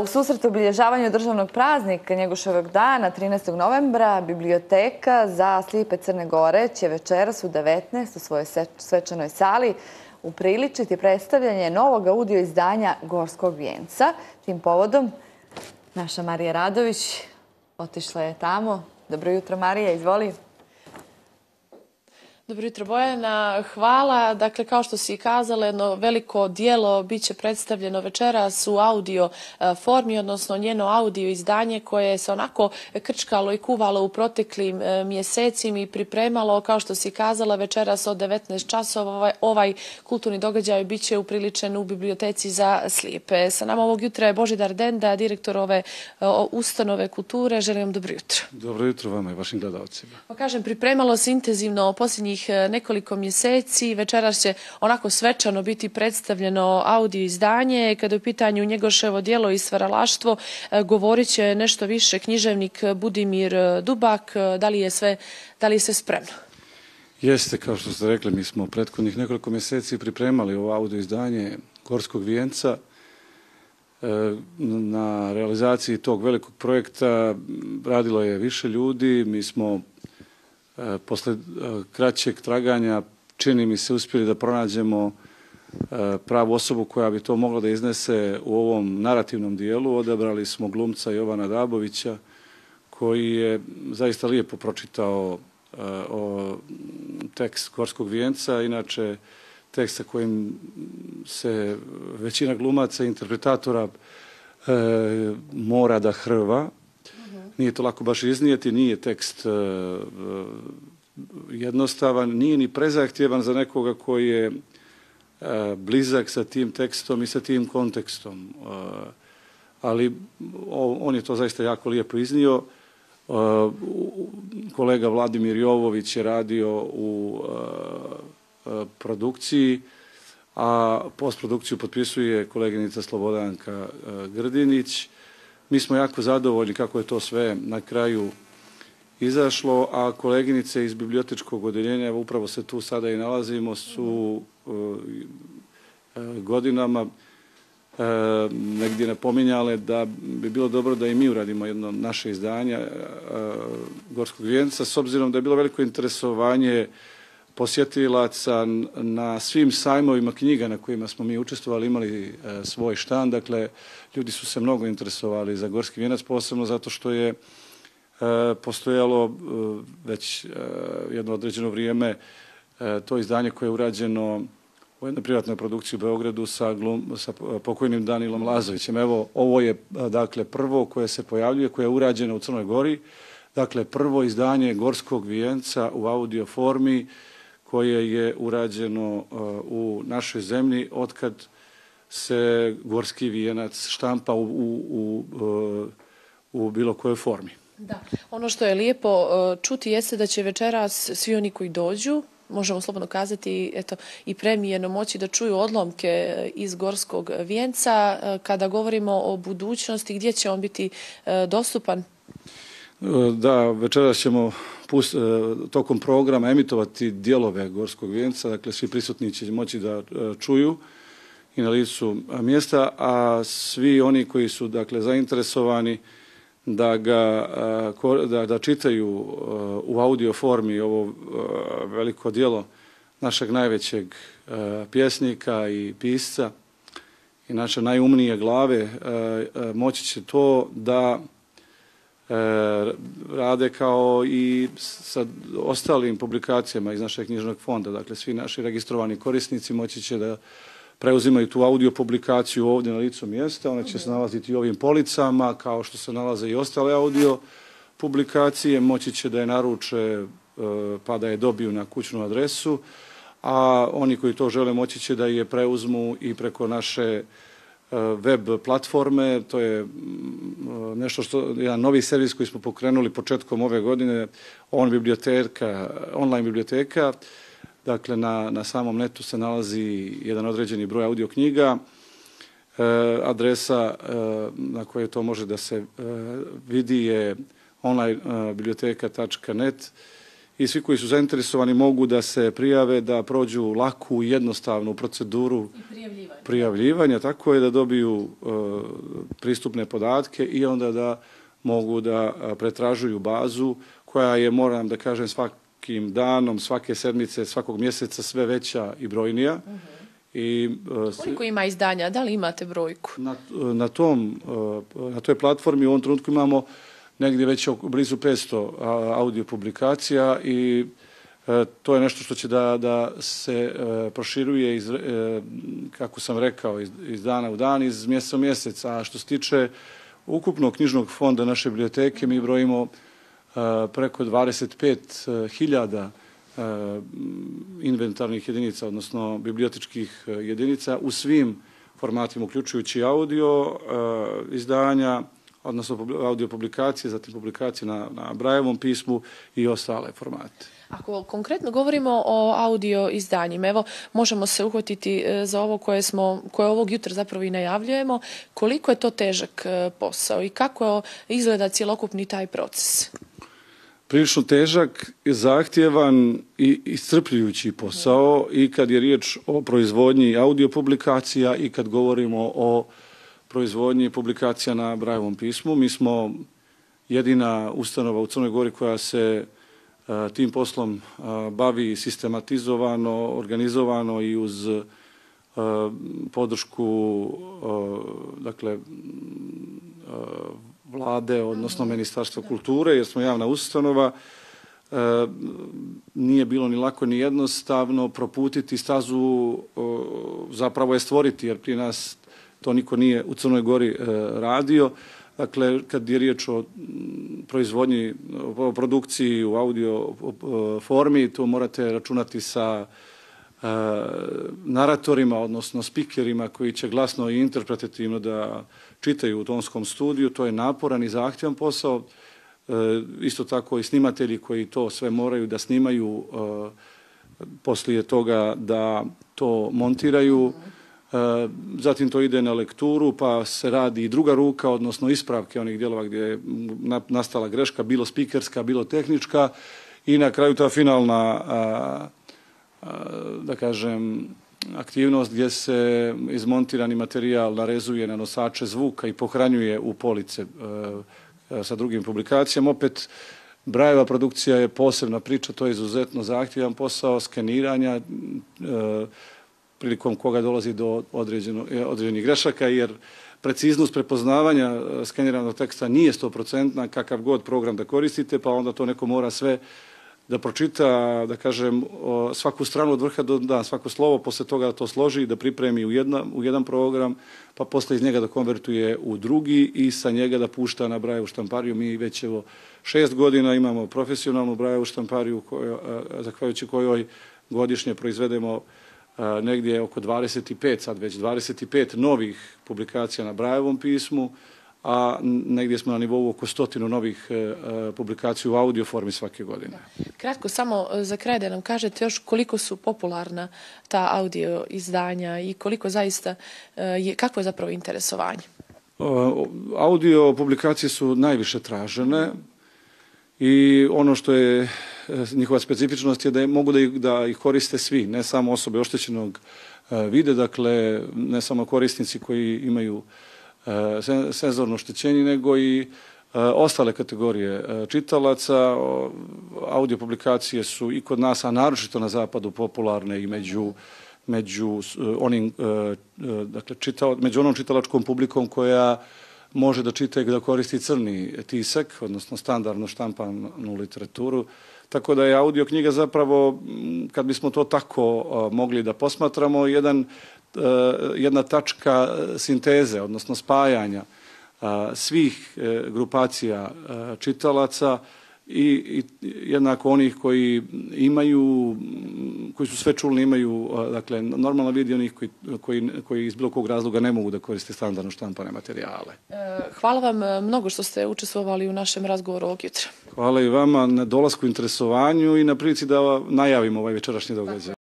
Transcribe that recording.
U susret obilježavanju državnog praznika Njegoševog dana 13. novembra Biblioteka za slijepe Crne Gore će večeras u 19 u svojoj svečanoj sali upriličiti predstavljanje novog audio izdanja Gorskog vijenca. Tim povodom naša Marija Radović otišla je tamo. Dobro jutro, Marija, izvoli. Dobro jutro, Bojana. Hvala. Dakle, kao što si kazala, jedno veliko dijelo bit će predstavljeno večeras u audio formi, odnosno njeno audio izdanje koje se onako krčkalo i kuvalo u proteklim mjesecima i pripremalo, kao što si kazala, večeras od 19 časova. Ovaj kulturni događaj bit će upriličen u Biblioteci za slijepe. Sa nama ovog jutra je Božidar Denda, direktor ove ustanove kulture. Želim vam dobro jutro. Dobro jutro vama i vašim gledalcima. Pa kažem, pripremalo se intenzivno posljednjih nekoliko mjeseci. Večeras će onako svečano biti predstavljeno audio izdanje. Kada je u pitanju Njegoševo djelo i stvaralaštvo, govorit će nešto više književnik Budimir Dubak. Da li je sve spremno? Jeste, kao što ste rekli, mi smo prethodnih nekoliko mjeseci pripremali ovo audio izdanje Gorskog vijenca. Na realizaciji tog velikog projekta radilo je više ljudi. Mi smo posle kraćeg traganja, čini mi se, uspjeli da pronađemo pravu osobu koja bi to mogla da iznese u ovom narativnom dijelu. Odabrali smo glumca Jovana Dabovića, koji je zaista lijepo pročitao tekst Gorskog vijenca, inače tekst sa kojim se većina glumaca i interpretatora mora da hrva. Nije to lako baš iznijeti, nije tekst jednostavan, nije ni prezahtjevan za nekoga koji je blizak sa tim tekstom i sa tim kontekstom. Ali on je to zaista jako lijepo iznio. Kolega Vladimir Jovović je radio u produkciji, a postprodukciju potpisuje koleginica Slobodanka Grdinić. Mi smo jako zadovoljni kako je to sve na kraju izašlo, a koleginice iz bibliotečkog odeljenja, upravo se tu sada i nalazimo, su godinama negdje napominjale da bi bilo dobro da i mi uradimo jedno naše izdanje Gorskog vijenca, s obzirom da je bilo veliko interesovanje posjetilaca na svim sajmovima knjiga na kojima smo mi učestvovali, imali svoj štand. Dakle, ljudi su se mnogo interesovali za Gorski vijenac, posebno zato što je postojalo već jedno određeno vrijeme to izdanje koje je urađeno u jednoj privatnoj produkciji u Beogradu sa pokojnim Danilom Lazovićem. Evo, ovo je dakle prvo koje se pojavljuje, koje je urađeno u Crnoj Gori. Dakle, prvo izdanje Gorskog vijenca u audio formi koje je urađeno u našoj zemlji otkad se Gorski vijenac štampa u bilo kojoj formi. Da. Ono što je lijepo čuti jeste da će večeras svi oni koji dođu, možemo slobodno kazati, eto, i premijeno moći da čuju odlomke iz Gorskog vijenca. Kada govorimo o budućnosti, gdje će on biti dostupan? Da, večeras ćemo tokom programa emitovati dijelove Gorskog vijenca, dakle svi prisutni će moći da čuju i na licu mjesta, a svi oni koji su dakle zainteresovani da čitaju u audio formi ovo veliko djelo našeg najvećeg pjesnika i pisca i naše najumnije glave, moći će to da rade kao i sa ostalim publikacijama iz našeg knjižnog fonda. Dakle, svi naši registrovani korisnici moći će da preuzimaju tu audio publikaciju ovdje na licu mjesta. One će se nalaziti u ovim policama, kao što se nalaze i ostale audio publikacije. Moći će da je naruče pa da je dobiju na kućnu adresu, a oni koji to žele moći će da je preuzmu i preko naše web platforme. To je jedan novi servis koji smo pokrenuli početkom ove godine, online biblioteka. Dakle, na samom netu se nalazi jedan određeni broj audio knjiga. Adresa na kojoj to može da se vidi je onlinebiblioteka.net i svi koji su zainteresovani mogu da se prijave, da prođu laku i jednostavnu proceduru prijavljivanja, tako je, da dobiju pristupne podatke i onda da mogu da pretražuju bazu koja je, moram da kažem, svakim danom, svake sedmice, svakog mjeseca sve veća i brojnija. Koliko ima izdanja? Da li imate brojku? Na toj platformi u ovom trenutku imamo negdje već blizu 500 audio publikacija i to je nešto što će da se proširuje, kako sam rekao, iz dana u dan, iz mjeseca u mjesec. A što se tiče ukupnog knjižnog fonda naše biblioteke, mi brojimo preko 25.000 inventarnih jedinica, odnosno bibliotičkih jedinica u svim formatima, uključujući audio izdanja, odnosno audio publikacije, zatim publikacije na Brailleovom pismu i ostale formate. Ako konkretno govorimo o audio izdanjima, evo možemo se uhvatiti za ovo koje ovog jutra zapravo i najavljujemo, koliko je to težak posao i kako izgleda cjelokupni taj proces? Prilično težak, zahtjevan i iscrpljujući posao i kad je riječ o proizvodnji audio publikacija i kad govorimo o proizvodnji publikacija na Brailleovom pismu. Mi smo jedina ustanova u Crnoj Gori koja se tim poslom bavi sistematizovano, organizovano i uz podršku vlade, odnosno Ministarstva kulture, jer smo javna ustanova. Nije bilo ni lako ni jednostavno proputiti stazu, zapravo je stvoriti, jer prije nas to niko nije u Crnoj Gori radio. Dakle, kad je riječ o proizvodnji, o produkciji u audio formi, to morate računati sa naratorima, odnosno spikerima koji će glasno i interpretativno da čitaju u tonskom studiju. To je naporan i zahtjevan posao. Isto tako i snimatelji koji to sve moraju da snimaju, poslije toga da to montiraju. Zatim to ide na lekturu, pa se radi i druga ruka, odnosno ispravke onih dijelova gdje je nastala greška, bilo spikerska, bilo tehnička, i na kraju ta finalna, da kažem, aktivnost gdje se izmontirani materijal narezuje na nosače zvuka i pohranjuje u police sa drugim publikacijama. Opet, Brailleova produkcija je posebna priča, to je izuzetno zahtjevan posao skeniranja, prilikom koga dolazi do određenih grešaka, jer preciznost prepoznavanja skeniranog teksta nije 100%, kakav god program da koristite, pa onda to neko mora sve da pročita, da kažem, svaku stranu od vrha do dna, svako slovo, posle toga da to složi i da pripremi u jedan program, pa posle iz njega da konvertuje u drugi i sa njega da pušta na Brailleovu štampariju. Mi već 6 godina imamo profesionalnu Brailleovu štampariju, zahvaljujući kojoj godišnje proizvedemo negdje oko 25 novih publikacija na Brailleovom pismu, a negdje smo na nivou oko 100 novih publikacija u audio formi svake godine. Kratko, samo za kraj da nam kažete još koliko su popularna ta audio izdanja i koliko zaista, kakvo je zapravo interesovanje? Audio publikacije su najviše tražene i ono što je njihova specifičnost je da mogu da ih koriste svi, ne samo osobe oštećenog vida, dakle ne samo korisnici koji imaju senzorno oštećenje, nego i ostale kategorije čitalaca. Audio publikacije su i kod nas, a naročito na zapadu, popularne i među onom čitalačkom publikom koja može da čita i da koristi crni tisak, odnosno standardno štampanu literaturu. Tako da je audio knjiga zapravo, kad bismo to tako mogli da posmatramo, jedna tačka sinteze, odnosno spajanja svih grupacija čitalaca i jednako onih koji su sve čulni, imaju, dakle, normalno vidi onih koji iz bilo kog razloga ne mogu da koriste standardno štampane materijale. Hvala vam mnogo što ste učestvovali u našem razgovoru ovog jutra. Hvala i vama na dolasku, interesovanju i na prilici da najavimo ovaj večerašnji događaj.